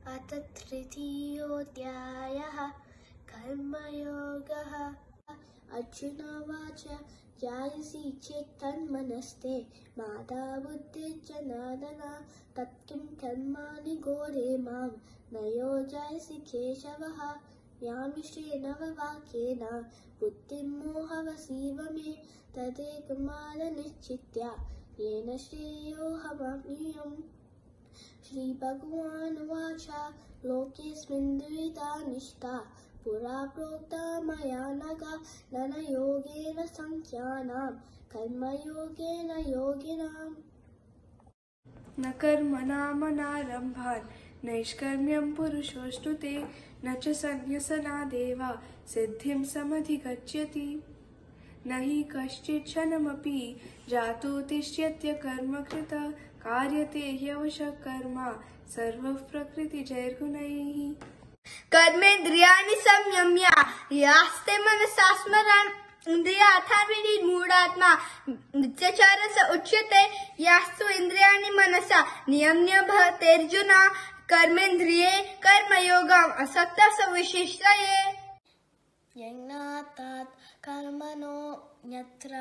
अथ तृतीयोऽध्यायः कर्मयोगः। अर्जुन उवाच ध्यायसि चेत् तन्मनस्ते माता बुद्धिर्जनार्दन तत्किं कर्माणि घोरे मां न योजयसि केशवः। यामिश्रेण वाक्येन बुद्धिं मोहवसीव मे तदेकमादनिश्चित्य येन श्रेयोऽहमाप्नुयाम्। श्रीभगवानुवाच लोकेऽस्मिन् द्विविधा निष्ठा पुरा प्रोक्ता मया नघ ज्ञानयोगेन सांख्यानां कर्मयोगेन योगिनाम्। न कर्मणामनारम्भात् नैष्कर्म्यं पुरुषोऽश्नुते न च सन्न्यसनादेव सिद्धिं समधिगच्छति। न हि कश्चित् क्षणमपि जातो तिष्ठत्य कर्मकृत कार्यते ह्यवशः कर्म सर्वः प्रकृतिजैर्गुणैः। कर्मेन्द्रियाणि संयम्य यास्ते मनसा स्मरन् इन्द्रियार्थान्विमूढात्मा मिथ्याचारः उच्यते। यास्तु इन्द्रियाणि मनसा नियम्य भवत्यर्जुन कर्मेन्द्रिये कर्मयोगम् असक्तः स विशिष्टये। यज्ञात् कर्मणो यत्र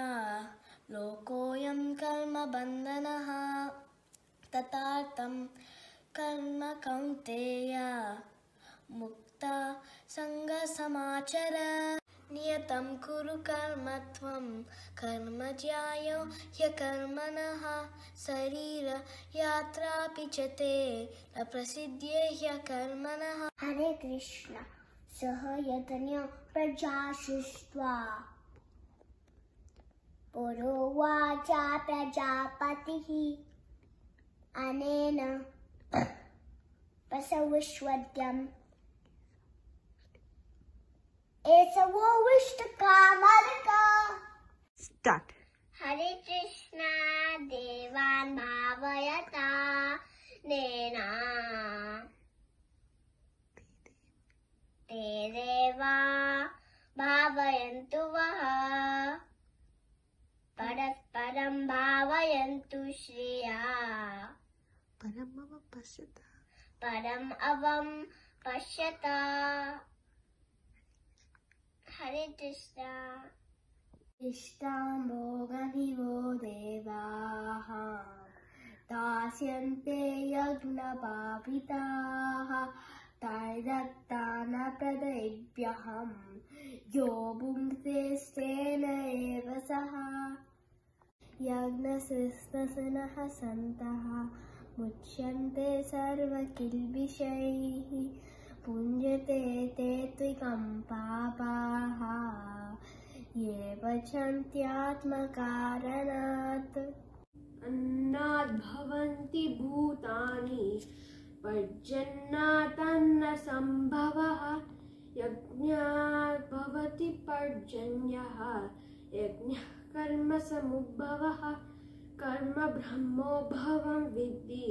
लोकोऽयं कर्मबन्धनः तथार्थं कर्म कौन्तेय मुक्ता सङ्गसमाचर। नियतं कुरु कर्म त्वं कर्म ज्यायो ह्यकर्मणः शरीरयात्रापि च ते न प्रसिद्ध्ये ह्यकर्मणः। हरे कृष्ण। सह यज्ञ प्रजा सृष्ट्वा पुरोवाच प्रजापतिः अनेन प्रसविष्वद्यम् एषवो विष्टकामर्का। Start. हरे कृष्ण। देवान् भावयता नेन ते देवा भावयन्तु वः परस्परं भावयन्तु श्रिया परम् अवं पश्यता। हरे कृष्ण। इष्टां भोगनिवो देवाः दास्यन्ते यज्ञपापिताः तैर्दत्तान प्रदेभ्यहं यो भुङ्क्ते तेन एव सः। यज्ञशिस्तनः सन्तः मुच्यन्ते सर्वकिल्बिषैः पुञ्जते ते त्विकं पापाः ये पचन्त्यात्मकारणात्। अन्नाद् भवन्ति भूतानि पर्जन्यादन्न सम्भवः यज्ञात् भवति पर्जन्यः यज्ञः कर्म समुद्भवः। कर्म ब्रह्मोद्भवं विद्धि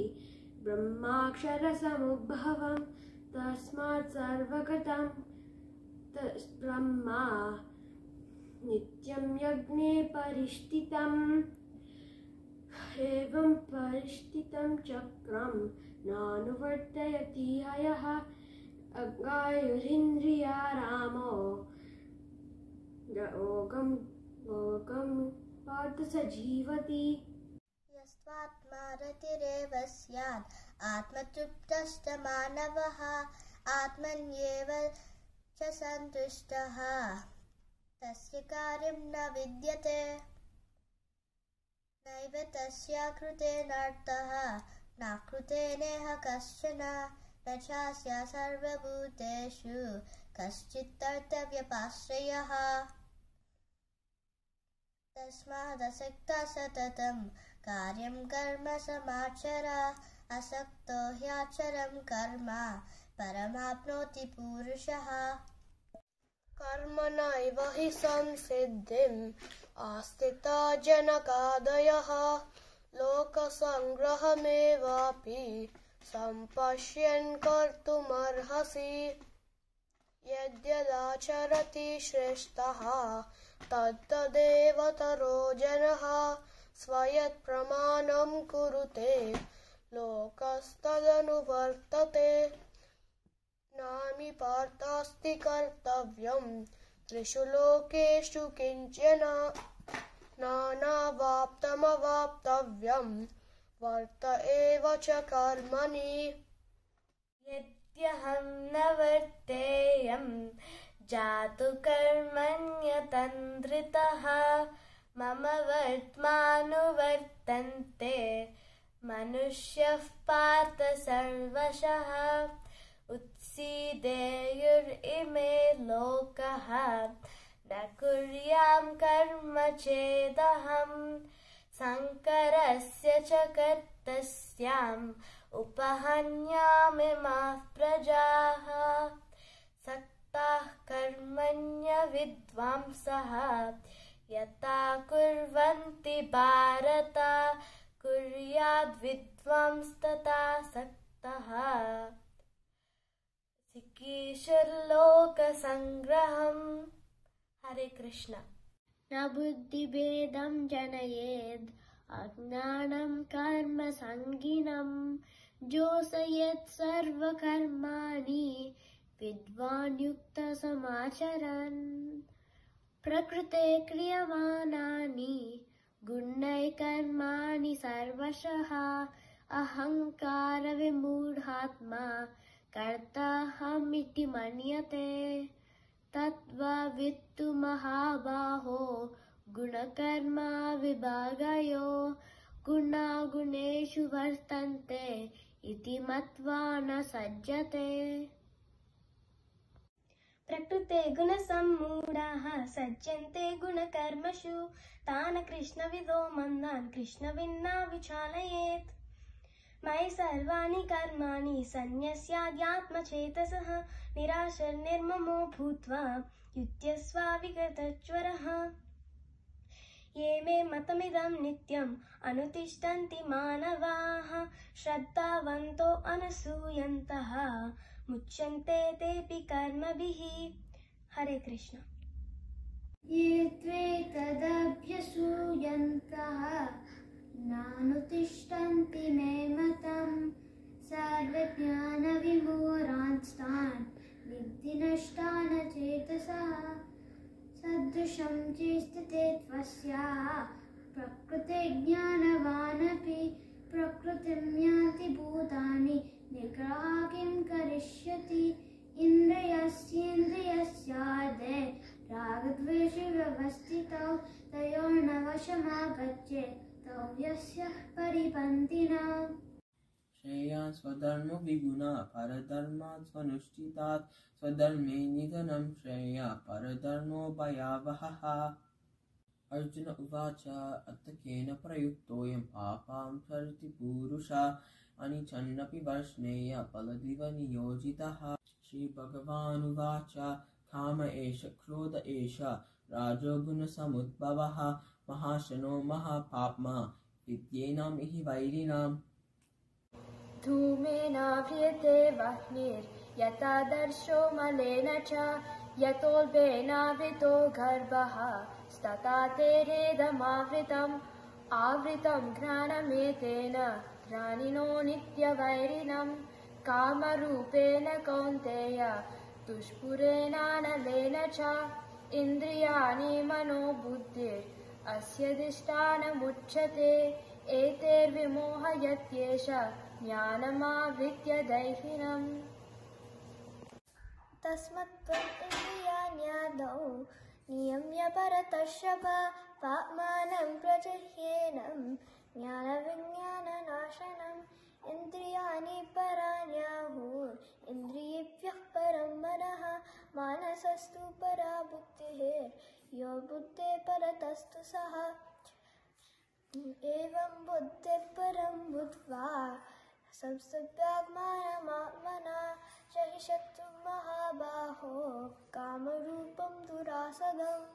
ब्रह्माक्षरसमुद्भवं तस्मात् सर्वगतं ब्रह्मा नित्यं यज्ञे परिष्ठितम्। एवं परिष्ठितं चक्रं नानुवर्तयति यः अगायुरिन्द्रियारामो योगं पार्थ स जीवति। यस्त्वात्मा रतिरेव स्यात् आत्मतृप्तश्च मानवः आत्मन्येव च सन्तुष्टः तस्य कार्यं न विद्यते। नैव तस्य कृतेनार्थः न कृतेनेह कश्चन न चास्य सर्वभूतेषु कश्चित्कर्तव्यपाश्रयः। तस्मादसक्तः सततं कार्यं कर्म समाचर असक्तो ह्याचरं कर्म परमाप्नोति पुरुषः। कर्मणैव हि संसिद्धिम् आस्थिता जनकादयः लोकसङ्ग्रहमेवापि सम्पश्यन् कर्तुमर्हसि। यद्यदाचरति श्रेष्ठः तत्तदेवतरो जनः स्वयत्प्रमाणं कुरुते लोकस्तदनुवर्तते। नामि पार्थास्ति कर्तव्यं त्रिषु लोकेषु किञ्चन नानावाप्तमवाप्तव्यं वर्त एव च कर्मणि यद्यहं न वर्तेयं जातु कर्मण्यतन्द्रितः मम वर्त्मानुवर्तन्ते मनुष्यः पार्थ सर्वशः उत्सीदेयुरिमे लोकः न कुर्यां कर्म चेदहम् संकरस्य च कर्तस्याम् उपहन्यामिमाः प्रजाः सक्ताः कर्मण्य विद्वांसः यथा कुर्वन्ति भारत कुर्याद्विद्वांस्तथा सक्तः सिकीर्षुर्लोकसङ्ग्रहम्। हरे कृष्ण। न बुद्धिभेदं जनयेद् अज्ञानं कर्म संगिनं जोषयेत् सर्वकर्माणि विद्वान् युक्त समाचरन् प्रकृते क्रियमाणानि गुणैः कर्माणि सर्वशः अहंकार विमूढात्मा कर्ताहमिति मन्यते तद्वित्तु महाबाहो गुणकर्मा विभागयो गुणागुणेषु वर्तन्ते इति मत्वा न सज्जते। प्रकृते गुणसम्मूढाः सज्जन्ते गुणकर्मसु तान् कृष्णविदो मन्दान् कृष्णविन्ना विचालयेत् मयि सर्वाणि कर्माणि सन्न्यस्याद्यात्मचेतसः निराशर्निर्ममो भूत्वा युध्यस्वाविगतज्वरः ये मे मतमिदं नित्यम् अनुतिष्ठन्ति मानवाः श्रद्धावन्तो अनसूयन्तः मुच्यन्ते तेऽपि कर्मभिः। हरे कृष्ण। ये त्वेतदभ्यसूयन्तः नानुतिष्ठन्ति मे मतम् सर्वज्ञानविमूढांस्तान् विद्धि नष्टान् चेतसः सदृशं चेष्टते त्वस्याः प्रकृते ज्ञानवानपि प्रकृतिं यान्ति भूतानि निग्रहा किं करिष्यति इन्द्रियस्येन्द्रियस्यार्धे रागद्वेषे व्यवस्थितौ तयोर्न वशमागच्छेत् तौ यस्य परिपन्थिनः। श्रेयान् स्वधर्मो विगुणा परधर्मात् स्वनुष्ठितात् स्वधर्मे निधनं श्रेया परधर्मो भयावहः। अर्जुन उवाच अथ केन प्रयुक्तोऽयं पापां चरति पुरुषः अनिच्छन्नपि वर्ष्णेय फलदिव नियोजितः। श्रीभगवानुवाच काम एष क्रोध एष राजोगुणसमुद्भवः महाशनो महापाप्मा विद्येनां हि वैरिणाम्। धूमेनाव्रियते वह्निर्यथादर्शो मलेन च यतोल्बेनावृतो गर्भः तथा तेरेदमावृतम् आवृतं घ्राणमेतेन घ्राणिनो नित्यवैरिणं कामरूपेण कौन्तेय दुष्पुरेणानलेन च इन्द्रियाणि मनो बुद्धिर् अस्यधिष्ठानमुच्यते एतैर्विमोहयत्येष ज्ञानमावृत्य दैहिनम्। तस्मत्त्वम् इन्द्रियाण्यादौ नियम्य परतर्षभ पाप्मानं प्रजह्येनं ज्ञानविज्ञाननाशनम् इन्द्रियाणि पराण्याहुः इन्द्रियेभ्यः परं मनः मानसस्तु परा बुद्धिः यो बुद्धेः परतस्तु सः एवं बुद्धेः परं बुद्ध्वा संस्तभ्यात्मानमात्मना च हि शत्रुं महाबाहो कामरूपं दुरासदम्।